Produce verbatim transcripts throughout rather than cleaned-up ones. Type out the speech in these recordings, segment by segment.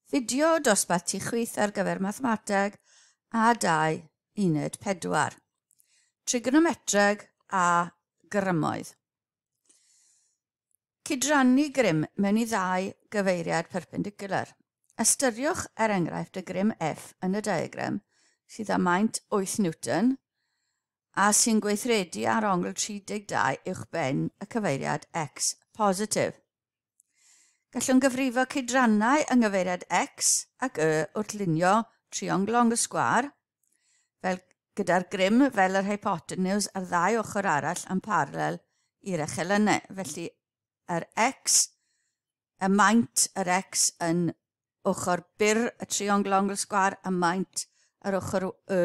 Fideo dosbarth ti chwith ar gyfer mathemateg A dau uned pedwar. Trigonometreg a grymoedd. Cydrannu grym mewn i ddau gyfeiriad perpendicular. Ystyriwch er enghraifft y grym F yn y diagram sydd â maint wyth Newton a sy'n gweithredu ar ongl tri deg dau uwchben y cyfeiriad X positif. Gallwn gyfrifo cydrannau yng nghyfeiriad X ac Y wrth lunio triongl ongl sgwâr, fel gyda'r grym fel yr hypotenws a'r ddau ochr arall yn paralel i'r echelynau. Felly yr X, y maint yr X yn ochr byr y triongl ongl sgwâr a maint yr ochr Y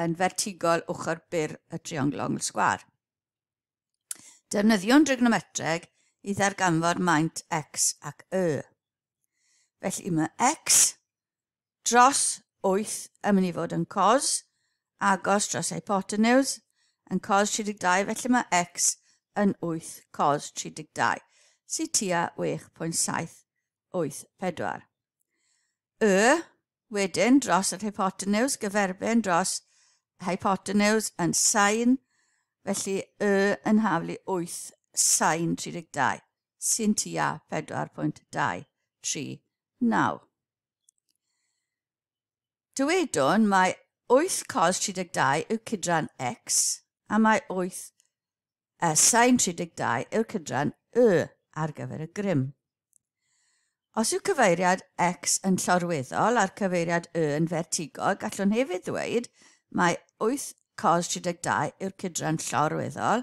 yn fertigol ochr byr y triongl ongl sgwâr. Defnyddiwn trigonometreg i ddarganfod maint X ac Y. Felly mae X dros wyth yn mynd i fod yn cos, agos dros hypotenws, yn cos tri deg dau, felly mae X yn wyth cos tri deg dau, sydd tua chwech pwynt saith wyth pedwar. Y wedyn dros yr hypotenws, gyferbyn dros hypotenws yn sain, felly Y yn haflu wyth sain tri deg dau, sy'n tua pedwar pwynt dau tri naw. Dywedwn mae wyth cos tri deg dau yw cydran X a mae wyth uh, sain tri deg dau yw'r cydran Y ar gyfer y grym. Os yw cyfeiriad X yn llorweddol a'r cyfeiriad Y yn fertigol, gallwn hefyd ddweud mae wyth cos tri deg dau yw'r cydran llorweddol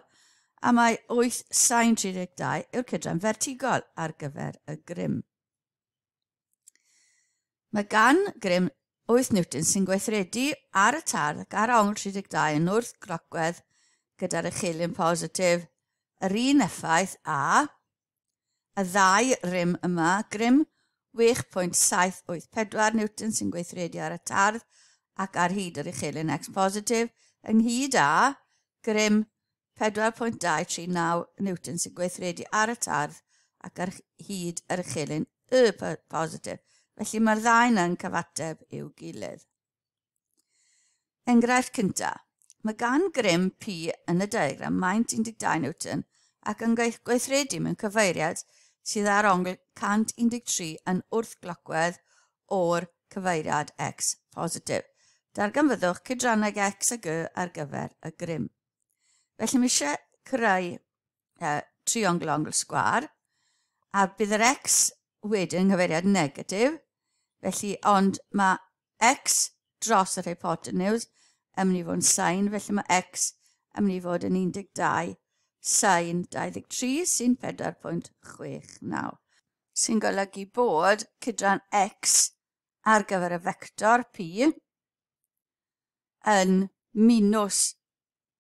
a mae wyth sain tri deg dau yw'r cydran fertigol ar gyfer y grym. Mae gan grym wyth Newton sy'n gweithredu ar y tardd ac ar ongl tri deg dau yn wrth glocwedd gyda'r echelin positif yr un effaith a y ddau rym yma, grym chwech pwynt saith wyth pedwar Newton sy'n gweithredu ar y tardd ac ar hyd yr echelin X positif, ynghyd â grym pedwar pwynt dau tri naw Newton sy'n gweithredu ar y tardd ac ar hyd yr echelin Y positif. Felly mae'r ddau yna'n cyfateb i'w gilydd. Enghraifft cyntaf. Mae gan grym P yn y diagram maint un deg dau Newton ac yn gweithredu mewn cyfeiriad sydd ar ongl cant un deg tri yn wrthglocwedd o'r cyfeiriad X positif. Darganfyddwch cydrannau X ag Y ar gyfer y grym. Felly mae eisiau creu uh, triongl ongl sgwâr a bydd yr X wedyn yng nghyfeiriad negatif, felly ond mae X dros yr hypotenws yn mynd i fod yn sain, felly mae X yn mynd i fod yn un deg dau sain dau ddeg tri sy'n pedwar pwynt chwech naw, sy'n golygu bod cydran X ar gyfer y fector P yn minws,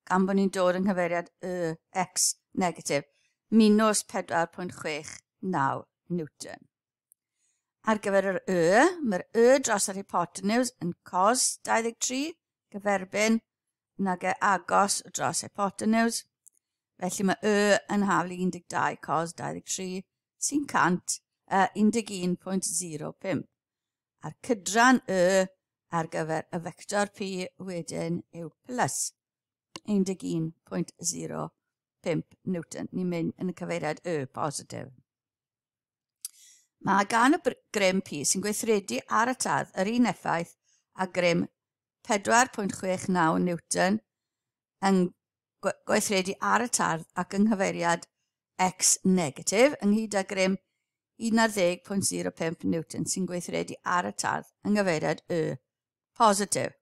gan bod ni'n dod yng nghyfeiriad Y X negatif, minws pedwar pwynt chwech naw Newton. Ar gyfer yr Y, mae'r Y dros yr hypotenws yn cos dau ddeg tri, gyferbyn nag e agos dros hypotenws. Felly mae Y yn haflu un deg dau cos dau ddeg tri, sy'n cant, uh, un deg un pwynt zero pump. A'r cydran Y ar gyfer y fector P wedyn yw plus un deg un pwynt zero pump Newton. Ni'n mynd yn y cyfeiriad Y positif. Mae gan y grym P sy'n gweithredu ar y tardd yr un effaith a grym pedwar pwynt chwech naw Newton yn gweithredu ar y tardd ac yng nghyfeiriad X negatif, ynghyd â grym un ar ddeg pwynt zero pump Newton sy'n gweithredu ar y tardd yng nghyfeiriad Y positif.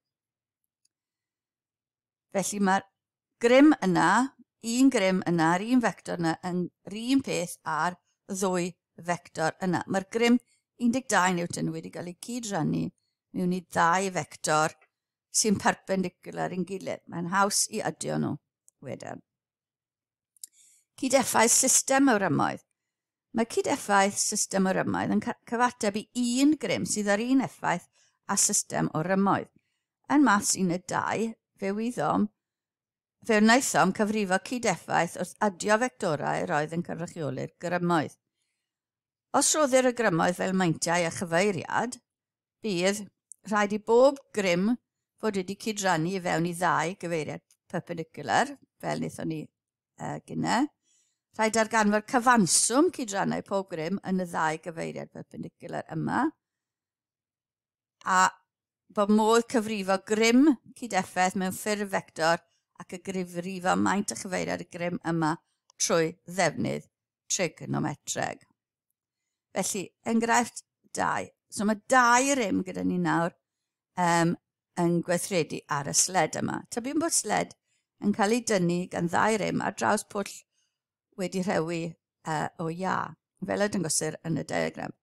Felly mae'r grym yna, un grym yna, yr un fector yna, yn yr un peth â'r ddwy fector yna. Mae'r grym un deg dau Newton wedi cael ei cydrannu mewn i ddau fector sy'n perpendicular i'n gilydd. Mae'n haws i adio nhw wedyn. Cydeffaith system o rymoedd. Mae cydeffaith system o rymoedd yn cyfateb i un grym sydd ar un effaith a system o rymoedd. Yn maths un deg dau, fe wyddom, fe wnaethom cyfrifo cydeffaith wrth adio fectorau roedd yn cynrychioli'r grymoedd. Os rhoddir y grymoedd fel meintiau a chyfeiriad, bydd rhaid i bob grym fod wedi cydrannu i fewn i ddau gyfeiriad perpendicular, fel wnaethon ni uh, gynne. Rhaid darganfod cyfanswm cydrannau pob grym yn y ddau gyfeiriad perpendicular yma. A bod modd cyfrifo grym cydeffaith mewn ffurf fector ac y gyfrifo maint a chyfeiriad y grym yma trwy ddefnydd trigonometreg. Felly, enghraifft dau. So mae dau rym gyda ni nawr um, yn gweithredu ar y sled yma. Tybiwn bod sled yn cael ei dynnu gan ddau rym ar draws pwll wedi rhewi uh, o iâ, fel y dangosir yn y diagram.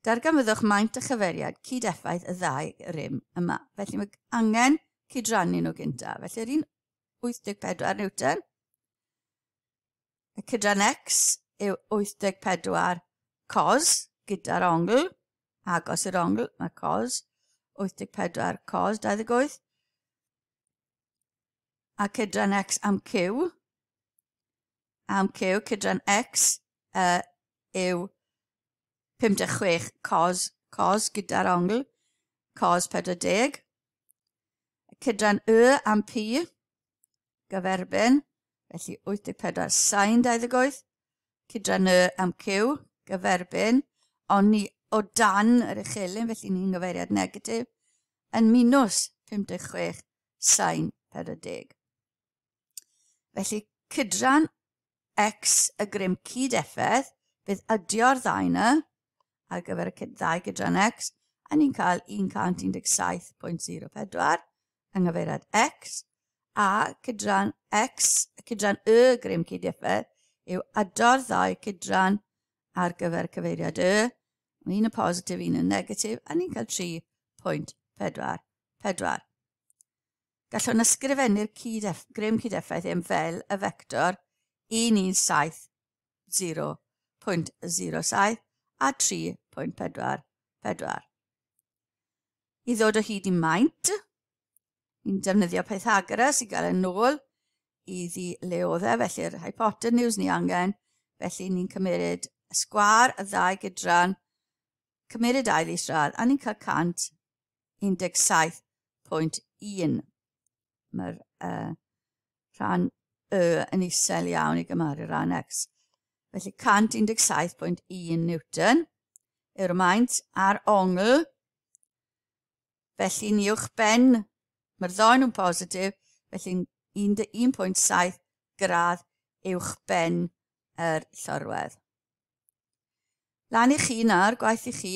Darganfyddwch maint a chyfeiriad cydeffaith y ddau rym yma. Felly mae angen cydrannu nhw gyntaf. Felly yr un wyth deg pedwar Newton, y cydran X yw wyth deg pedwar cos gyda'r ongl, agos i'r ongl, mae cos, wyth deg pedwar cos dau ddeg wyth, a cydran X am Q, am Q, cydran X uh, yw pum deg chwech cos, cos gyda'r ongl, cos pedwar deg. Cydran Y am P, gyferbyn, felly wyth deg pedwar sin dau ddeg wyth. Cydran Y am Q, gyferbyn, ond ni o dan yr uchelyn, felly ni'n gyfeiriad negatif, yn minus pum deg chwech sin pedwar deg. Felly cydran X y grym cydeffaith, bydd adio'r ddau yna ar gyfer y ddau gydran X, a ni'n cael un cant un deg saith pwynt zero pedwar yng nghyfeiriad X, a cydran X, cydran Y grym cydeffaith, yw ado'r ddau cydran ar gyfer cyfeiriad Y, un yn positif, un yn negatif, a ni'n cael tri pwynt pedwar pedwar. Gallwn ysgrifennu'r cydef, grym cydeffaith yn fel y fector un un saith zero pwynt zero saith a tri pwynt pedwar pedwar. I ddod o hyd i maint, ni'n defnyddio Pythagoras i gael yn ôl iddi le oedd e, felly'r hypotenuse ni angen, felly ni'n cymryd y sgwâr y ddau gydran, cymryd ail isradd, a ni'n cael cant un deg saith pwynt un. Mae'r uh, rhan Y yn isel iawn i gymharu rhan X. Felly cant un deg saith pwynt un Newton yw'r maint a'r ongl. Felly ni uwch ben, mae'r ddau nhw'n positif, felly un pwynt saith gradd uwch ben yr llorwedd. Lan i chi nawr, gwaith i chi,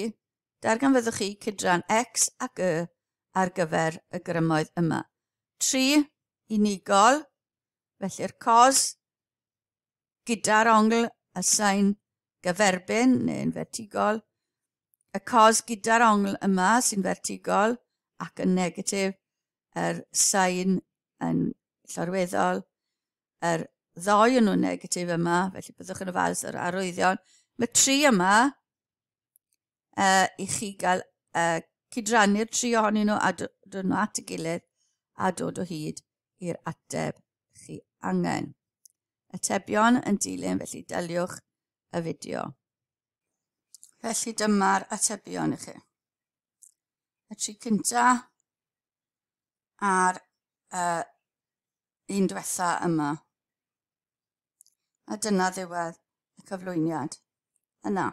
darganfyddwch chi cydran X ac Y ar gyfer y grymoedd yma. Tri unigol, felly'r cos gyda'r ongl y sain gyferbyn neu'n fertigol, y cos gyda'r ongl yma sy'n fertigol ac yn negatif, yr sain yn llorweddol, yr ddau yn nhw'n negatif yma, felly byddwch yn ofalus yr arwyddion. Mae tri yma uh, i chi gael uh, cydrannu'r tri ohonyn nhw a dod nhw at y gilydd a dod o hyd i'r ateb chi angen. Atebion yn dilyn, felly daliwch y fideo. Felly dyma'r atebion i chi. Y tri cynta a'r uh, un diwetha yma. A dyna ddiwedd y cyflwyniad yna.